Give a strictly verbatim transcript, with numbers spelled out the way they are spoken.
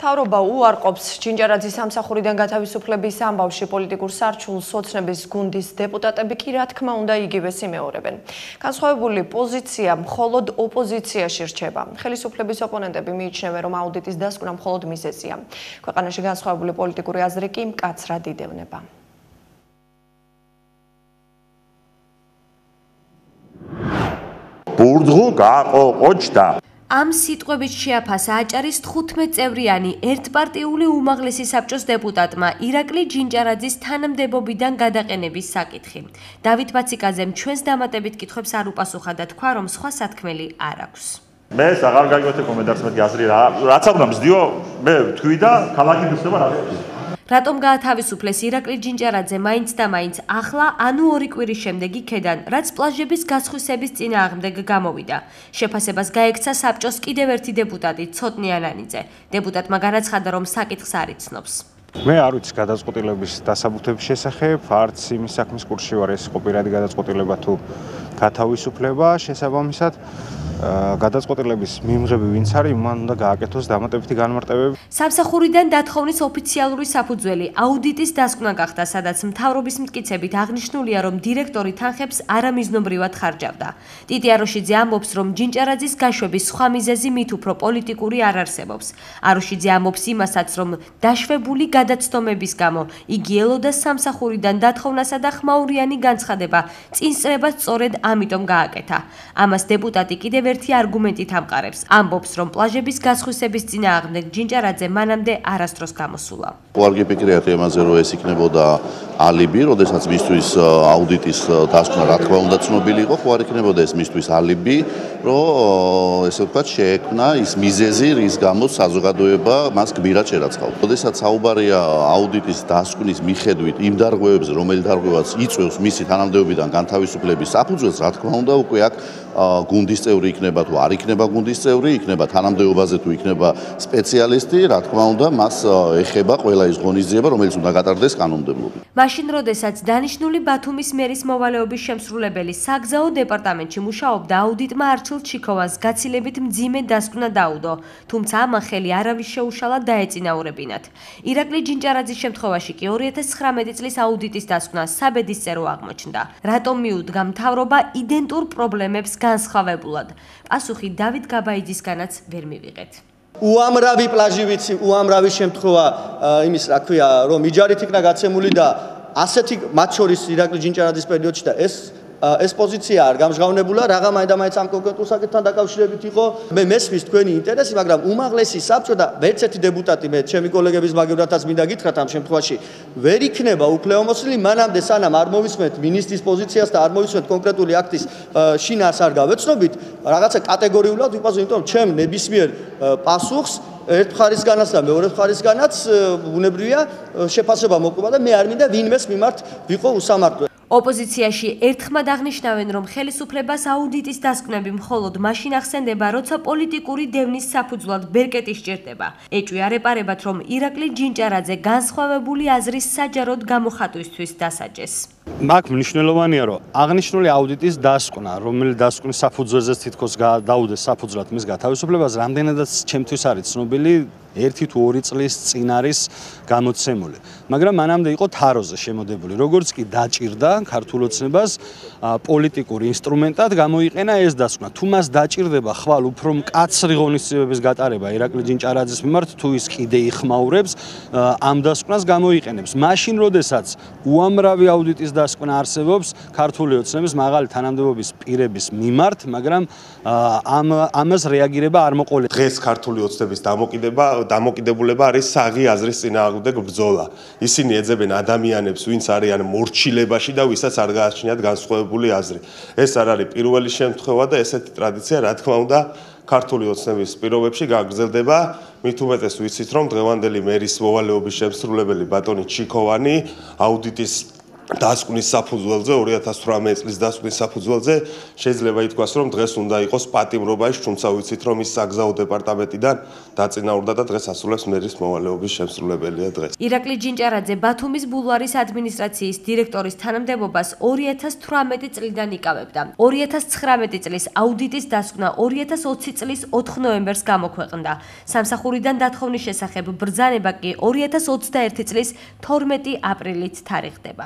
მთავრობა უარყოფს ჯინჯარაძის სამსახურიდან გათავისუფლების ამბავში პოლიტიკურ სარჩულს ოცნების გუნდის დეპუტატები კი რა თქმა უნდა იგივეს იმეორებენ. განსხვავებული პოზიცია მხოლოდ ოპოზიციაში რჩება. ხელისუფლების ოპონენტები მიიჩნევენ, რომ აუდიტის დასკვნა მხოლოდ მიზეზია. ქვეყანაში განსხვავებული პოლიტიკური აზრი კი მკაცრად იდევნება. ბურდღუ გაყოყოჩდა. ამ სიტყვებით შეაფასა აჭარის თხუთმეტ-წევრიანი ერთპარტიული უმაღლესი საბჭოს დეპუტატმა ირაკლი ჯინჯარაძის თანამდებობიდან გადაყენების საკითხი. დავით ბაციკაძემ ჩვენს დამატებით კითხვებს არ უპასუხა და თქვა, რომ სხვა სათქმელი არ აქვს. მე აღარ გაიგოთ კომენტარს მეთქი აზრი რა რაც აღნა მსდიო მე თქვი და ქალაქი მისდება რა რატომ გაათავისუფლეს ირაკლი ჯინჯარაძე მაინც და მაინც ახლა ანუ ორი კვირის შემდეგ იქედან, რაც პლაჟების გასხვისების წინააღმდეგ გამოვიდა. შეფასებას გაექცა საბჭოს კიდევ ერთი დეპუტატი ცოტნი ანანიძე. დეპუტატმა განაცხადა, რომ საკითხს არ იცნობს. მე არ ვიცი გადაწყვეტილების დასაბუთების შესახებ, არც იმის საქმის კურსში ვარ, ეს იყო პირადი გადაწყვეტილება თუ გათავისუფლება, შესაბამისად გადაწყვეტილების მიმღები ვინც არის, მან უნდა გააკეთოს დამატებითი განმარტებები. სამსახურიდან დათხოვნის ოფიციალური საფუძველი აუდიტის დასკვნა გახდა, სადაც მთავრობის მტკიცებით აღნიშნულია, რომ დირექტორი თანხებს არამიზნობრივად ხარჯავდა. ტიტი აროშიძე ამბობს, რომ ჯინჯარაძის გაშვების სხვა მიზეზი მით უფრო პოლიტიკური არ არსებობს. აროშიძე ამბობს იმასაც, რომ დაშვებული გადაცდომების გამო იგი ელოდა სამსახურიდან დათოვნასა და ხმაურიანი განცხადება წინსწრებას სწორედ ამიტომ გააკეთა. ამას დეპუტატი კიდევ ერთი არგუმენტით ამყარებს. ამბობს, რომ პლაჟების გასხვისების წინააღმდეგ ჯინჯარაძე მანამდე არასდროს გამოსულა. არ გიპიკრიათ იმაზე, რომ ეს იქნებოდა ალიბი, როდესაც მისთვის აუდიტის დასკვნა რა თქმა უნდა ცნობილი იყო, ხო არ იქნებოდა ეს მისთვის ალიბი, რომ ესე ვთქვათ, შეექმნა ის მიზეზი, რის გამოც საზოგადოება მას გმირად შერაცხავდა. როდესაც საუბარია აუდიტის დასკვნის მიხედვით იმ დარღვევებზე, რომელი დარღვევაც იწვევს მისი თანამდებობიდან განთავისუფლების საფუძველს, რა თქმა უნდა, უკვე აქ გუნდის წევრი იქნება თუ არ იქნება გუნდის წევრი, იქნება თანამდებობაზე თუ იქნება სპეციალისტი, რა თქმა უნდა, მას ეხება ყველა ის ღონისძიება, რომელიც უნდა გატარდეს კანონმდებლობით. მაშინ, როდესაც დანიშნული ბათუმის მერის მოვალეობის შემსრულებელი საგზაო დეპარტამენტში მუშაობდა, აუდიტმა არჩილ ჩიქოვანს გაცილებით მძიმე დასკვნა დაუდო, თუმცა ამან ხელი არავის შეუშალა დაეწინაურებინათ. ირაკლი ჯინჯარაძის შემთხვევაში კი ორი ათას ცხრამეტი წლის აუდიტის დასკვნა საბედისწერო აღმოჩნდა. რატომ მიუდგა მთავრობა იდენტურ პრობლემებს განსხვავებულად? პასუხი დავით გაბაიძისგანაც ვერ მივიღეთ. უამრავი პლაჟი ვიცი, უამრავი შემთხვევა იმის რა ქვია, რომ იჯარით იქნა გაცემული და ასეთი მათ შორის ირაკლი ჯინჯარაძის პერიოდში და ეს ეს პოზიცია არ გამჟღავნებულა, რაღა მაინდა-მაინც ამ კონკრეტულ საკითხთან დაკავშირებით იყო. მე მესმის თქვენი ინტერესი, მაგრამ უმაღლესი საბჭო და ვერც ერთი დეპუტატი მე ჩემი კოლეგების მაგევრათაც მინდა გითხრათ ამ შემთხვევაში ვერ იქნება უფლებამოსილი მანამდე სანამ არ მოვისმენთ მინისტრის პოზიციას და არ მოვისმენთ კონკრეტული აქტის შინაარს არ გავეცნობით, რაღაცა კატეგორიულად ვიყვაზო, იმიტომ რომ ჩემ ნებისმიერ პასუხს ერთ მხარისგანაც და მეორე მხარისგანაც ბუნებრივია შეფასება მოყვება და მე არ მინდა ვინმეს მიმართ ვიყო უსამართლო. ოპოზიციაში ერთხმად აღნიშნავენ, რომ ხელისუფლებას აუდიტის დასკვნები მხოლოდ მაშინ ახსენდება, როცა პოლიტიკური დევნის საფუძვლად ბერკეტი სჭირდება. ეჭვი არ ეპარებათ, რომ ირაკლი ჯინჯარაძე განსხვავებული აზრის საჯაროდ გამოხატვისთვის დასაჯეს. აქ მნიშვნელოვანია, რომ აღნიშნული აუდიტის დასკვნა, რომელიც დასკვნის საფუძველზეც თითქოს დაუდეს საფუძვლად მის გათავისუფლებას, რამდენადაც ჩემთვის არის ცნობილი, ერთი თუ ორი წლის წინ არის გამოცემული. მაგრამ მანამდე იყო თაროზე შემოდებული. როგორც კი დაჭირდა ქართულ ოცნებას პოლიტიკურ ინსტრუმენტად გამოიყენა ეს დასკვნა. თუ მას დაჭირდება ხვალ უფრო მკაცრი ღონისძიებების გატარება ირაკლი ჯინჯარაძის მიმართ, თუ ის კიდე იხმაურებს, ამ დასკვნას გამოიყენებს. მაშინ, როდესაც უამრავი აუდიტის დასკვნა არსებობს ქართული ოცნების მაღალი თანამდებობის პირების მიმართ, მაგრამ ამ ამას რეაგირება არ მოყოლება. დღეს ქართული ოცნების დამოკიდება დამოკიდებულება არის საღი აზრის წინააღმდეგ ბრძოლა. ისინი ეძებენ ადამიანებს, ვინც არიან მორჩილებაში და ვისაც არ გააჩნიათ განსხვავებული აზრი. ეს არ არის პირველი შემთხვევა და ესეთი ტრადიცია, რა თქმა უნდა, ქართული ოცნების პირობებში გაგრძელდება. მით უმეტეს ვიცით, რომ დღევანდელი მერის მოვალეობის შემსრულებელი ბატონი ჩიქოვანი აუდიტის დასკვნის საფუძველზე ორი ათას თვრამეტი წლის დასკვნის საფუძველზე შეიძლება ითქვას რომ დღეს უნდა იყოს პატიმრობაში, თუმცა ვიცით რომ ის საგზაო დეპარტამენტიდან დაწინაურდა და დღეს ასრულებს მერის მოვალეობის შემსრულებელია დღეს. ირაკლი ჯინჭარაძე ბათუმის ბულვარის ადმინისტრაციის დირექტორის თანამდებობას ორი ათას თვრამეტი წლიდან იკავებდა. ორი ათას ცხრამეტი წლის აუდიტის დასკვნა ორი ათას ოცი წლის ოთხ ნოემბერს გამოქვეყნდა. სამსახურიდან დათხოვნის შესახებ ბრძანება კი ორი ათას ოცდაერთი წლის თორმეტი აპრილით თარიღდება.